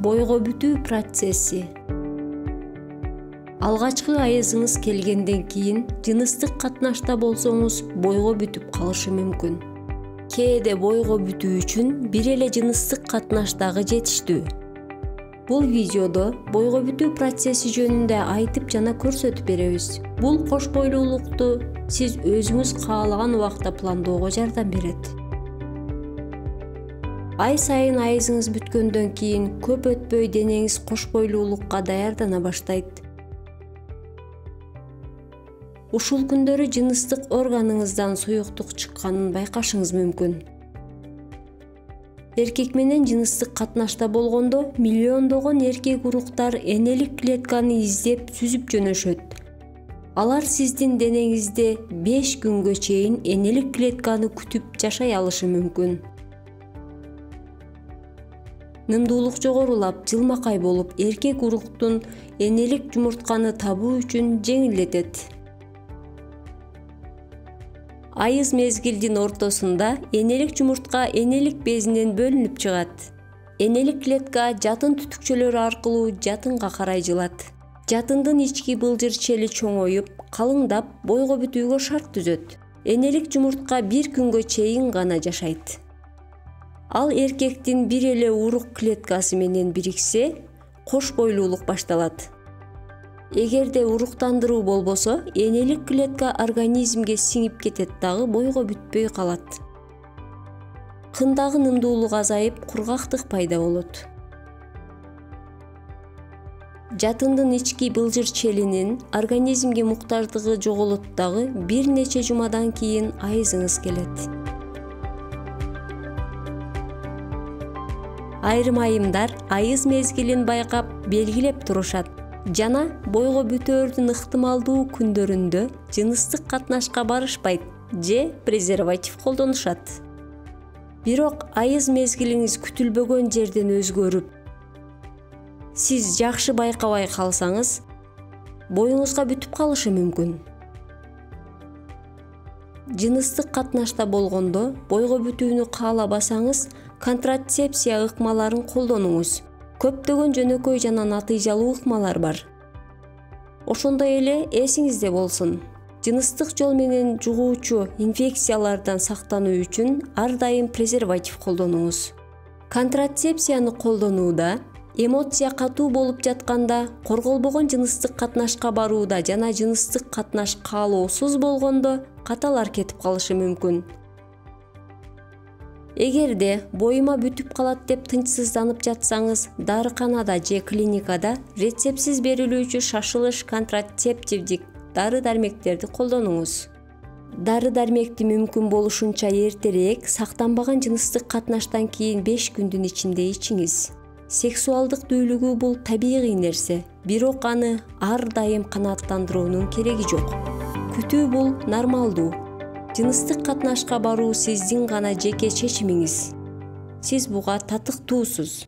бойго бүтүү процесси. Алгачкы айызыңыз келгенден кийин жыныстык катнашта болсоңуз бойго бүтүп калышы мүмкүн. Кээде бойго бүтүү үчүн бир эле жыныстык катнаш дагы жетиштүү. Бул видеодо бойго бүтүү процесси жөнүндө айтып жана көрсөтүп беребиз. Бул кош бойлуулукту сиз өзүңүз каалаган убакта пландоого жардам берет. Ай сайын айызыңыз бүткөндөн кийин көп өтпөй денеңиз кош бойлуулукка даярдана баштайт. Ушул күндөрү жыныстык органыңыздан суюктук чыкканын байкашыңыз мүмкүн. Эркек менен жыныстык катнашта болгондо миллиондогон эркек уруктар энелик клетканы издеп сүзүп жөнөшөт. Алар сиздин денеңизде 5 күнгө чейин энелик клетканы күтүп жашай алышы мүмкүн. Нымдуулук жогорулап, жылмакай болуп, эркек уруктун энелик жумуртканы табуу үчүн жеңилдетет. Айыз мезгилдин ортосунда энелик жумуртка энелик безинен бөлүнүп чыгат. Энелик клетка жатын түтүкчөлөрү аркылуу жатынга карай жылат. Жатындын ички былжыр чели чоңоюп, калыңдап, бойго бүтүүгө шарт түзөт. Энелик жумуртка 1 күнгө чейин гана жашайт. Ал эркектин бир эле урук клеткасы менен бириксе, кош бойлуулук башталат. Эгерде уруктандыруу болбосо, энелик клетка организмге сиңип кетет дагы бойго бүтпөй калат. Кындагы нымдуулук азайып, кургактык пайда болот. Жатындын ички былжыр челинин организмге муктаждыгы жоголот дагы бир нече жумадан кийин айызыңыз келет. Айрым айымдар айыз мезгилин байкап, белгилеп турушат жана бойго бүтөөрдүн ыктымалдуу күндөрүндө жыныстык катнашка барышпайт же презерватив колдонушат. Бирок айыз мезгилиңиз күтүлбөгөн жерден өзгөрүп, сиз жакшы байкабай калсаңыз, боюңузга бүтүп калышы мүмкүн. Жыныстык катнашта болгондо бойго бүтүүнү каалабасаңыз, контрацепсия ыкмаларын колдонуңуз. Көптөгөн жөнөкөй жана натыйжалуу ыкмалар бар. Ошондой эле эсиңизде болсун. Жыныстык жол менен жугуучу инфекциялардан сактануу үчүн ар дайым презерватив колдонуңуз. Контрацепцияны колдонууда, эмоция катуу болуп жатканда, корголбогон жыныстык катнашка барууда жана жыныстык катнаш каалоосуз болгондо каталар кетип калышы мүмкүн. Эгерде боюма бүтүп калат деп тынчсызданып жатсаңыз, дарыканада же клиникада рецептсиз берилүүчү шашылыш контрацептивдик дары-дармектерди колдонуңуз. Дары-дармекти мүмкүн болушунча эртерээк сактанбаган жыныстык катнаштан кийин 5 күндүн ичинде ичиңиз. Сексуалдык дүүлүгүү бул табигый нерсе, бирок аны ар дайым канааттандыруунун кереги жок. Күтүү бул нормалдуу. Жыныстык катнашка баруу сиздин гана жеке чечимиңиз. Сиз буга татыктуусуз.